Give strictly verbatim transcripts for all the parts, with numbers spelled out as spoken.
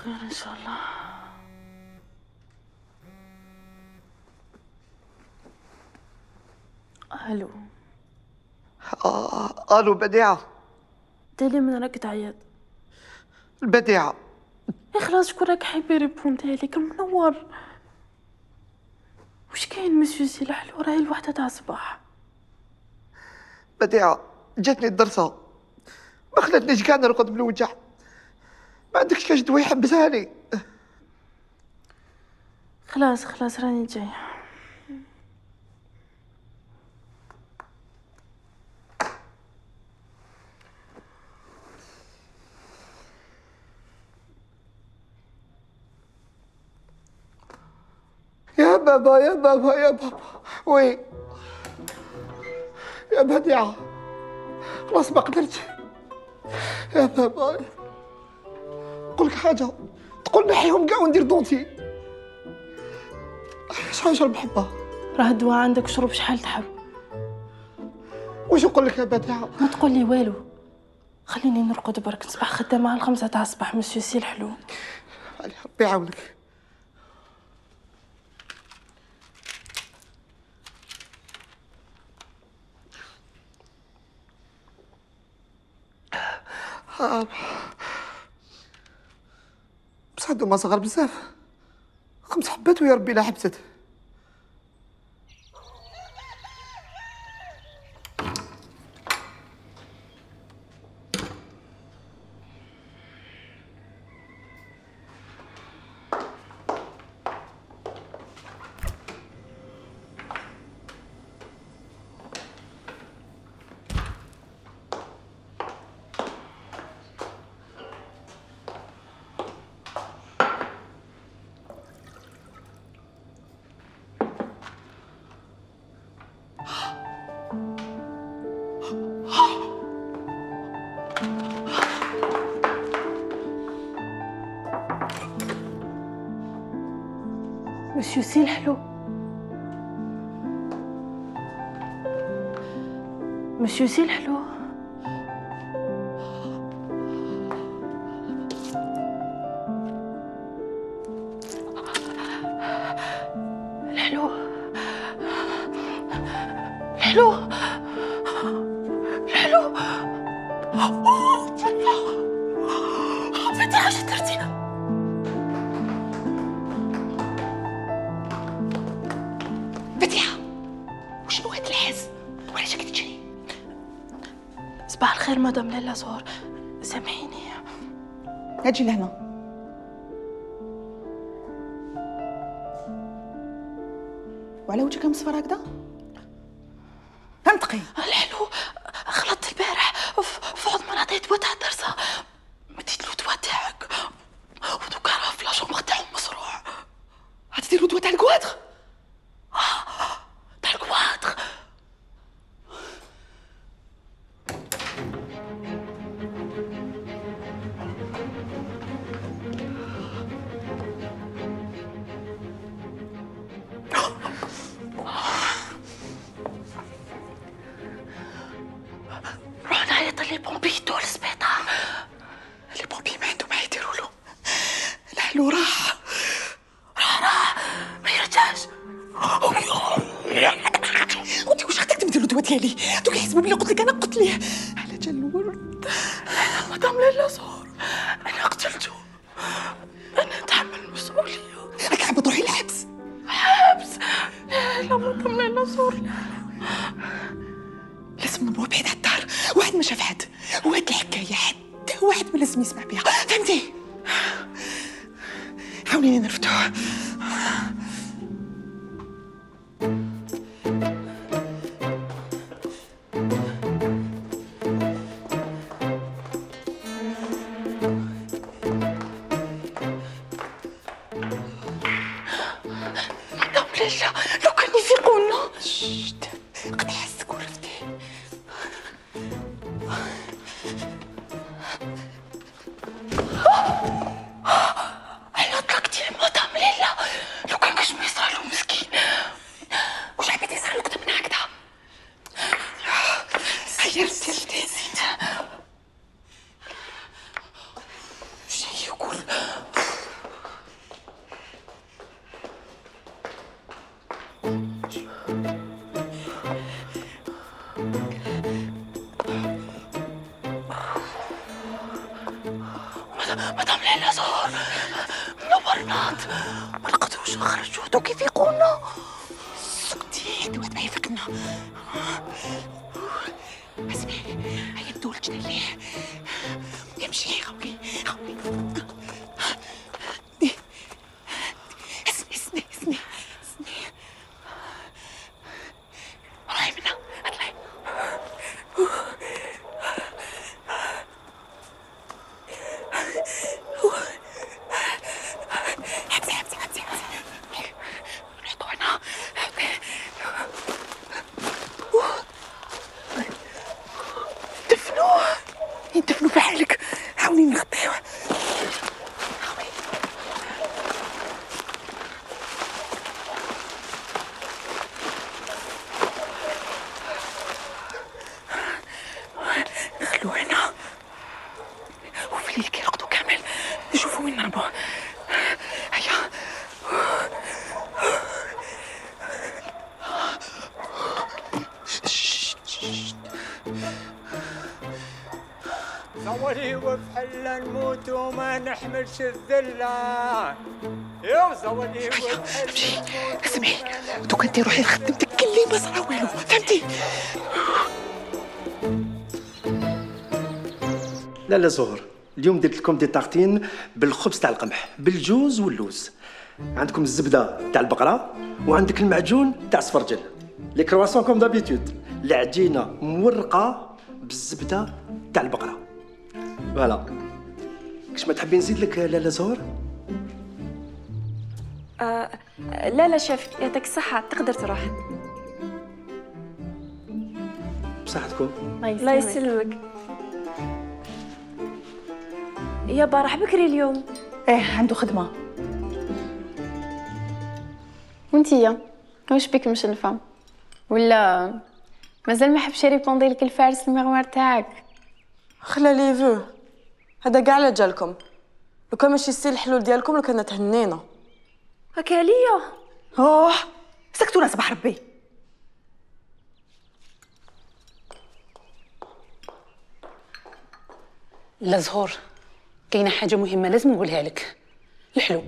خير ان شاء الله. الو. آه الو بديعه. تالي من راك تعيط؟ البديعه يا خلاص شكون راك حيبي ريبوندي لك منور. واش كاين مسيو سي الحلو؟ راهي الوحده تاع الصباح. بديعه جاتني الدرسه ما خلاتنيش كاع نرقد من الوجع. ما عندكش كاش دواء يحبسها لي؟ خلاص خلاص راني جايه. يا بابا يا بابا يا بابا وي يا بديعة خلاص ما قدرتش يا بابا. نقولك حاجة تقول نحيهم كاع وندير دونتي. شحال نشرب حبة؟ راه الدواء عندك شرب شحال تحب. واش نقول لك يا بديعة؟ ما تقول لي والو خليني نرقد برك. نصبح خدامة على الخمسة تاع الصباح مسيو سي الحلو. علي ربي يعاونك. بصح هادو ما صغار بزاف. خمس حبات ويا ربي لا حبست. مسيو سي الحلو. مسيو سي الحلو. الحلو الحلو الحلو. بديعة اش درتي؟ بديعة وشنو هاد الحس؟ وعلاش راكي تجري؟ صباح الخير مدام لاله زهور، سامحيني. اجي لهنا. وعلى وجهك مصفر هكذا؟ انطقي. الحلو غلطت البارح في عوض ما نعطيه دواء تاع الدرسه مديت له دواء تاعك ودوكا راه في لاشومبر تاعو مصروع. غتديرو دواء تاع الكوادر؟ تاع الكوادر. روح نعيط لي بومبي يدو للسبيطار. لي بومبي ما عندهم ما يديروا له. الحلو راح راه راه ما يرجعش. وانت واش خديتي تديروا الدواء ديالي؟ دوك يحسبوا بلي قلت لك انا قلت ليه على جال الورد. انا مدام لاله زهور انا قتلته. انا نتحمل المسؤوليه. راك حابه تروحي للحبس؟ حبس؟ لا لا مدام لاله زهور لا. لازم نبغوا بعيد على الدار. واحد ما شاف حد وهاد الحكايه حتى واحد ما لازم يسمع بها. فهمتي؟ حاوليني نرفدوه. مدام لاله لو كان يفيقونا. شت قد حسك ورفتي. انا طلقتي مدام لاله لو كان كاش ما يصرالو مسكين. واش عبيتي يصرالو كدا من هكذا؟ هيا رفتي رفتي شي يقول مدام ليلى زهور منورنات، ما لقيتوش خرجوا هادو كيف يقولنا. سكتي هادي واحد ما يفكنا. اسمعي هيا ندول جنا ليه يمشي خوي خوي. اسمعي اسمعي اسمعي اسمعي روحي منا اطلعي. حبسي حبسي حبسي حبسي نحطو هنا. دفنوه يدفنوا بحالك. حاولي نغطيوه. نخلوه هنا وفي الليل كي يرقدوا كامل نشوفوا وين نهربوا. هيا زولي وبحلا نموت وما نحملش الذلة. يا زولي وبحلا نموت. اسمعي دوكا انتي روحي لخدمتك كلي ما صرا والو فهمتي. لا لا زهر، اليوم درت لكم دي طاغتين بالخبز تاع القمح بالجوز واللوز. عندكم الزبده تاع البقره وعندك المعجون تاع السفرجل. لي كرواسون كوم دابيتود، العجينه مورقه بالزبده تاع البقره. فوالا. كش ما تحبين نزيد لك لاله زهر؟ آه لا لا شيف يعطيك الصحة تقدر تروح. بصحتكم. الله يسلمك. يابا راح بكري اليوم. ايه عنده خدمه. وانتيا واش بك مشنفه ولا مازال ما حبش يريبوندي لك الفارس المغوار تاعك؟ خلا لي فو هذا كاع لا جالكم. لو كان ماشي السي الحلول ديالكم لو كنا تهنينا. هكا عليا. اوه سكتونا صباح ربي. لا زهور كاينه حاجه مهمه لازم نقولها لك. الحلو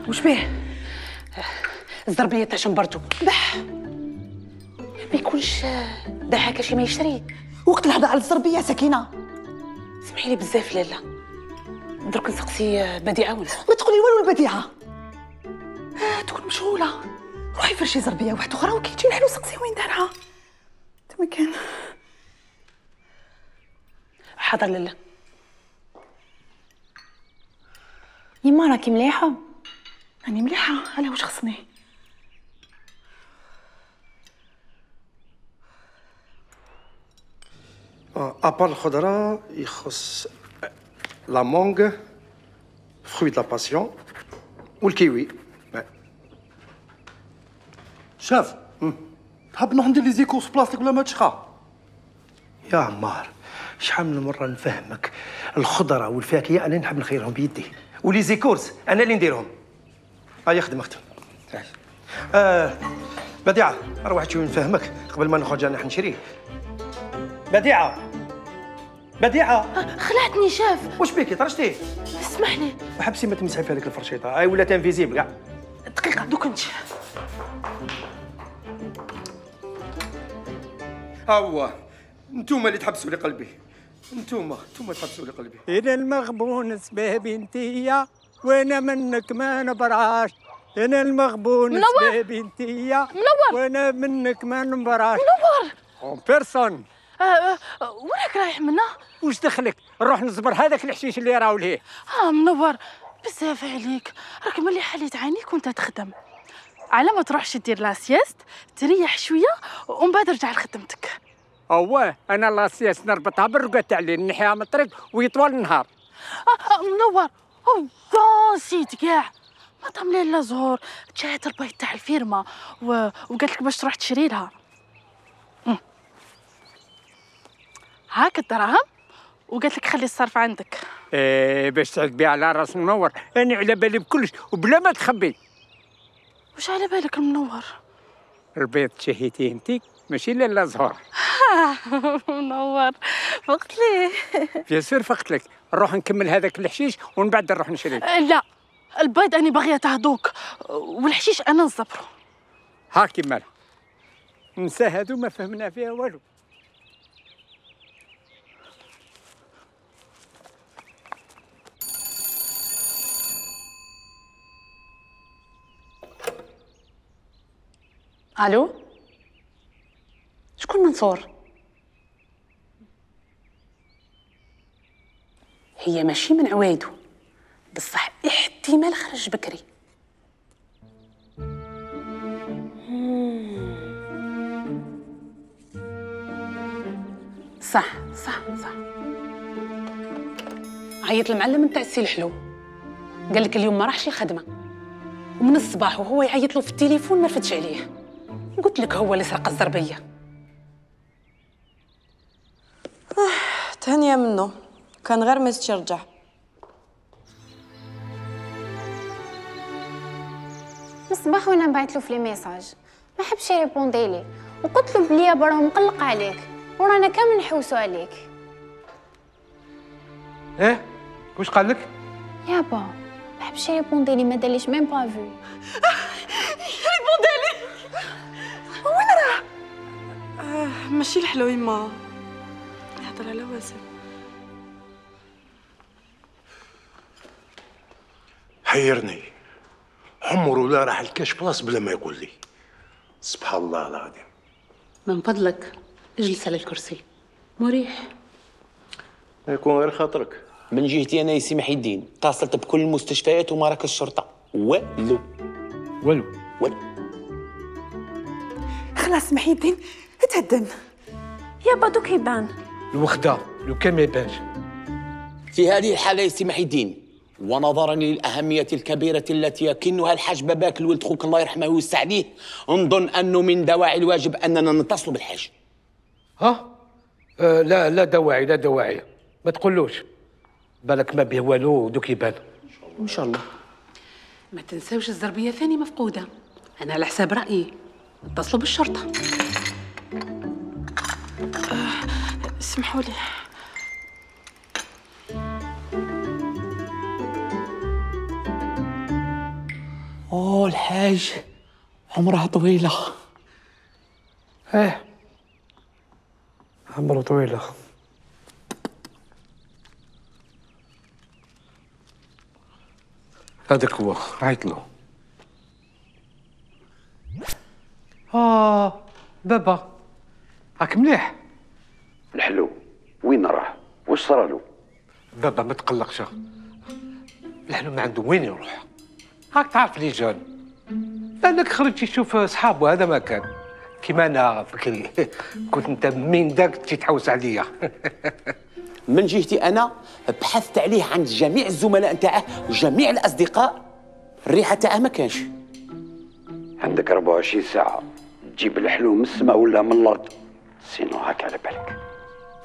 واش بيه؟ الزربيه تاع شمبرتو بح ما يكونش دعاك شي ما يشري. وقت الهضره على الزربيه سكينه. سمحي لي بزاف لاله. درك نسقسي بديعه ولا ما تقولي والو البديعه. آه تكون مشغوله. روحي فرشي زربيه واحده اخرى وكي تجي الحلو سقسي وين دارها. تما كان. حاضر لاله. يما راكي مليحه؟ راني مليحه. على واش خصني؟ ابار الخضره يخص لا مونغ فروي د لا باسيون والكيوي. شاف تحب نروح ندير لي زيكورس بلاصتك ولا ما تشخى؟ يا عمار شحال من مره نفهمك الخضره والفاكهه انا نحب نخيرهم بيدي ولي زيكورس انا اللي نديرهم. هيا خدم اختي. آه بديعه روح تشوفي نفهمك قبل ما نخرج انا نشريه. بديعه بديعه خلعتني شاف. واش بيكي طرشتي؟ اسمح لي. وحبسي ما تمسحي في هذيك الفرشيطه هاي ولات انفيزيبل كاع. دقيقه دوك انت. ها هو انتوما اللي تحبسوا لي قلبي. انتوما انتوما تحبسوا لي قلبي. إلى المغبون سبابي انتيا وانا منك ما نبراش. انا المغبون سبابي انتيا منور. وانا منك ما نبراش. منور. اون بيرسون. آه آه وراك رايح منا؟ واش دخلك؟ نروح نصبر هذاك الحشيش اللي راهو ليه. اه منور بزاف عليك. راك ملي حليت عينيك وانت تخدم على ما تروحش دير لاسيست تريح شويه ومن بعد رجع لخدمتك. اواه انا لاسيست نربطها بالرقاد تاع الليل نحيها من الطريق ويطول النهار. آه آه منور. اوه نسيت كاع مدام ليلى زهور جات البيت تاع الفيرما و... وقالت لك باش تروح تشري لها. هاك الدراهم وقالت لك خلي الصرف عندك. ايه باش تعد بها على راس منور. انا على بالي بكلش وبلا ما تخبي. وش على بالك المنور؟ البيض تشهيتيه انتي ماشي لاله زهور. منور منصور فقت لي. بيان سور فقت لك. نروح نكمل هذاك الحشيش ومن بعد نروح نشري. لا البيض أنا باغية تهدوك والحشيش أنا نصبرو. هاكي مالها نسى هادو ما فهمنا فيها والو. الو شكون منصور؟ هي ماشي من عوايدو بصح احتمال خرج بكري. صح صح صح. عيط المعلم نتاع السي الحلو قال لك اليوم ما راحش الخدمه ومن الصباح وهو يعيط له في التليفون ما رفدش عليه. قلت لك هو اللي سرق الزربيه. آه، تهنيه منه كان غير ما يرجع. من الصباح وانا نبعث له في لي ميساج ما حبش يريبوندي لي وقلت له بلي برا مقلق عليك ورانا كامل نحوسوا عليك. ايه واش قال لك؟ يابا ما حبش يريبوندي لي ما داليش ميم با فيو. ريبوندي لي وين راه؟ آه ماشي الحلو يما يهضر على واسم. حيرني عمره لا راح الكاش بلاص بلا ما يقول لي. سبحان الله العظيم. من فضلك اجلس على الكرسي مريح. يكون غير خاطرك. من جهتي انا يا سي محي الدين اتصلت بكل المستشفيات ومراكز الشرطه والو والو والو. خلاص محي الدين تهدن. يابا دوك يبان. الوخده لو كان ما يبانش. في هذه الحاله يا سي محي الدين ونظرا للاهميه الكبيره التي يكنها الحاج باباك الولد خوك الله يرحمه ويوسع عليه نظن انه من دواعي الواجب اننا نتصل بالحاج. ها؟ آه لا لا دواعي لا دواعي ما تقولوش بالك ما به والو دوك يبان. ان شاء الله. ما تنساوش الزربيه ثاني مفقوده. انا على حساب رايي اتصلوا بالشرطه. اسمحوا لي. اوه الحاج عمرها طويله. ايه عمره طويله. هذاك هو عيط له. اه بابا راك مليح؟ الحلو وين راه؟ واش صرالو؟ بابا ما تقلقش الحلو ما عنده وين يروح. راك تعرف لي جون لانك خرج يشوف صحابه هذا ما كان كيما انا فكري كنت انت من داك تجي تحوس عليا. من جهتي انا بحثت عليه عند جميع الزملاء نتاعه وجميع الاصدقاء الريحه تاعه ما كانش. عندك أربعة وعشرين ساعة تجيب الحلو من السماء ولا من الأرض سينو هاك على بالك.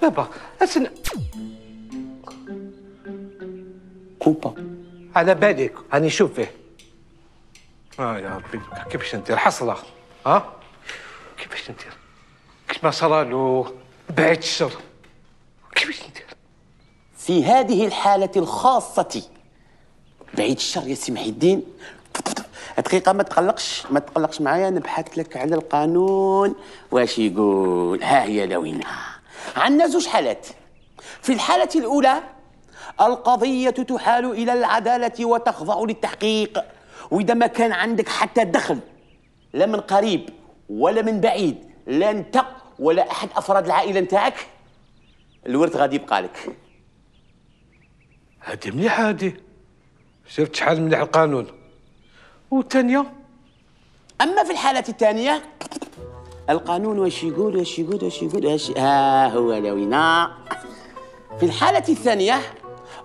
بابا أسن كوبا على بالك هاني شوف فيه. اه يا ربي كيفاش ندير حصله ها؟ كيفاش ندير؟ كيف ما صرالو بعيد الشر كيفاش ندير؟ في هذه الحالة الخاصة بعيد الشر يا سي محي الدين دقيقة ما تقلقش ما تقلقش معايا نبحث لك على القانون واش يقول. ها هي لوينها. عندنا زوج حالات. في الحالة الأولى القضية تحال إلى العدالة وتخضع للتحقيق وإذا ما كان عندك حتى دخل لا من قريب ولا من بعيد لا أنت ولا أحد أفراد العائلة نتاعك الورث غادي يبقى لك. هادي مليحة هادي. شفت شحال مليح القانون. والثانية أما في الحالة الثانية القانون واش يقول واش يقول واش يقول واش ها هو لوينا. في الحالة الثانية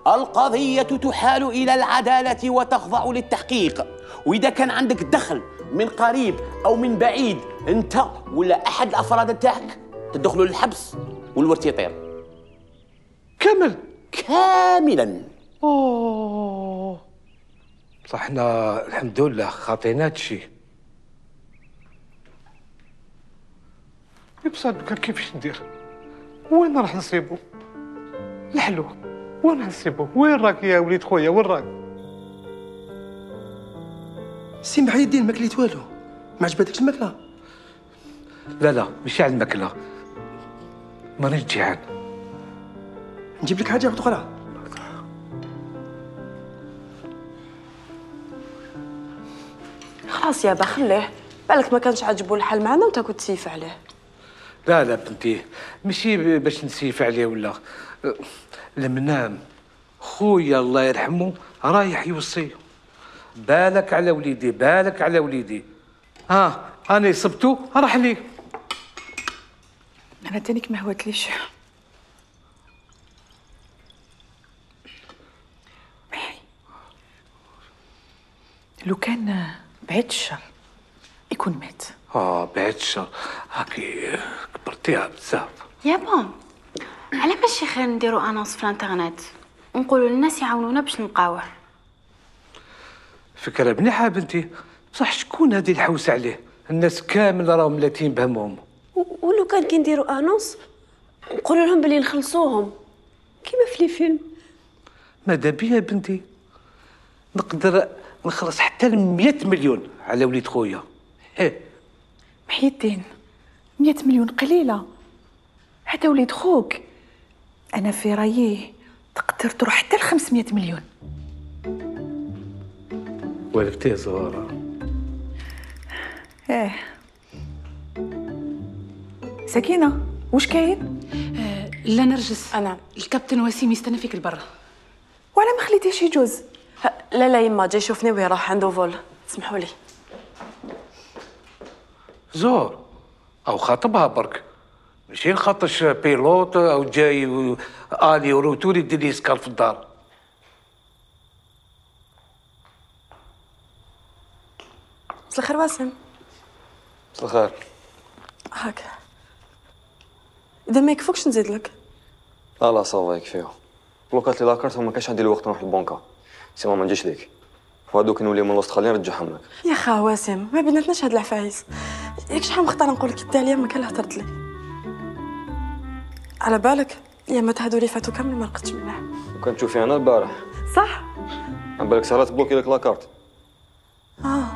القضية تحال إلى العدالة وتخضع للتحقيق وإذا كان عندك دخل من قريب أو من بعيد أنت ولا أحد الأفراد نتاعك تدخلوا للحبس والورث يطير كامل كاملا. اوه صح احنا الحمد لله خاطينا هادشي. بصح كيفاش ندير؟ وين راح نصيبو؟ الحلو وين راح نصيبو؟ وين راك يا وليد خويا وين راك؟ سي محي الدين ما كليت والو، ما عجبتكش الماكله؟ لا لا ماشي على الماكله، مانيش جيعان. نجيب لك حاجه اخرى. خلاص يابا خليه، بالك ما كانش عاجبو الحال معنا وانت كنت تسيف عليه. لا لا بنتي ماشي باش نسيف عليه ولا لما نام خويا الله يرحمه رايح يوصي بالك على وليدي بالك على وليدي. ها انا صبتو راح لي. انا تانيك ما هوتليش. لو كان بعيد الشر يكون مات. اه بعيد الشر هاكي كبرتيها بزاف. يا بون على ماشي خير نديرو انونس في الانترنت ونقولوا للناس يعاونونا باش نلقاوه. فكره مليحه بنتي، بصح شكون هادي الحوس عليه؟ الناس كامل راهم ملاتين بهمهم. ولو كان كي نديروا انونس نقولوا لهم بلي نخلصوهم كيما في لي فيلم. ماذا بيا بنتي نقدر نخلص حتى ل مية مليون على وليد خويا. ايه محي الدين مية مليون قليله، هذا وليد خوك. انا في رايي تقدر تروح حتى ل خمسمية مليون. والفتي زهره. ايه سكينه واش كاين؟ آه لا نرجس، انا الكابتن وسيم يستنى فيك لبرا. ولا ما خليتيش يجوز؟ لا لا يما جاي يشوفني ويروح عنده فول، سمحوا لي. زهر او خاطبها برك، ماشي نخاطش بيلوت او جاي الي وروتوري يدير لي سكار في الدار. مساء الخير واسم. مساء الخير. هاكا اذا ما يكفوكش نزيد لك. لا لا صافا يكفيو. بلوكات لي لاكارت وما كانش عندي الوقت نروح للبنكه، سيما ما نجيش ليك. وهادوك نولي من الاستراليين نرجعهم لك. يا خا واسم ما بيناتناش هاد العفايس، ياك شحال مختار نقول لك التاليه ما كان هضرت لي. على بالك ايامات هادو اللي فاتوا كامل ما لقيتش منها. وكنت تشوفي انا البارح. صح. على بالك سهله تبلوكي لك لاكارت. اه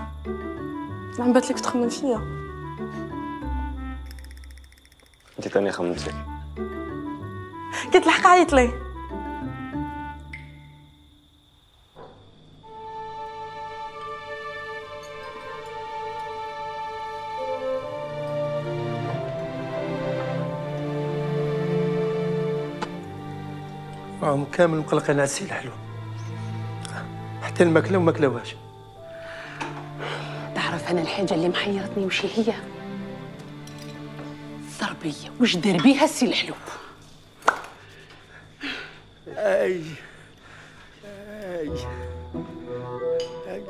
عم بات لك تخمم فيا. انت تاني خممت فيك. كتلحق عيط لي. راهم كامل مقلقين على السي الحلو، حتى الماكله وما كلاوهاش. تعرف انا الحاجه اللي محيرتني وش هي؟ الضربيه واش دار بيها السي الحلو؟ اي اي اي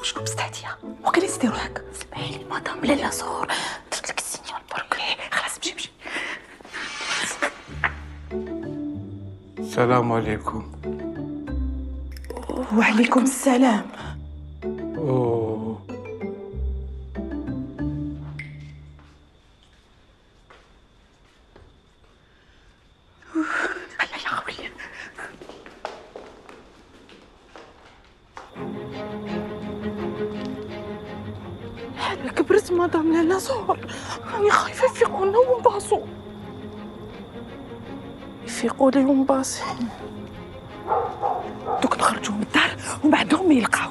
وشكون مستهديه؟ وكان يسدي روحك. سمعي لي مدام لالا زهور درت لك السينيال برك. خلاص مشي مشي. السلام عليكم. وعليكم السلام. اوه هيا يا خويا. حنا كبرت مدام لالا زهور، راني خايفه يفيقونا ونباصو. يفيقوا لي ونباصي دوك نخرجوا من الدار ومن بعدهم ما يلقاو.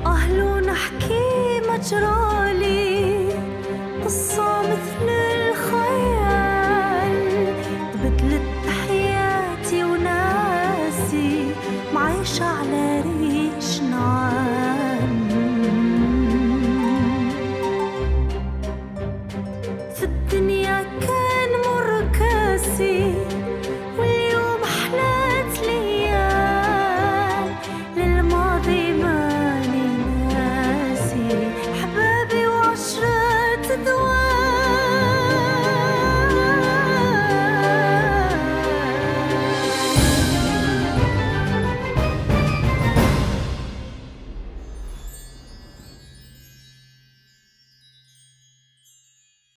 أهل نحكي مجرالي قصة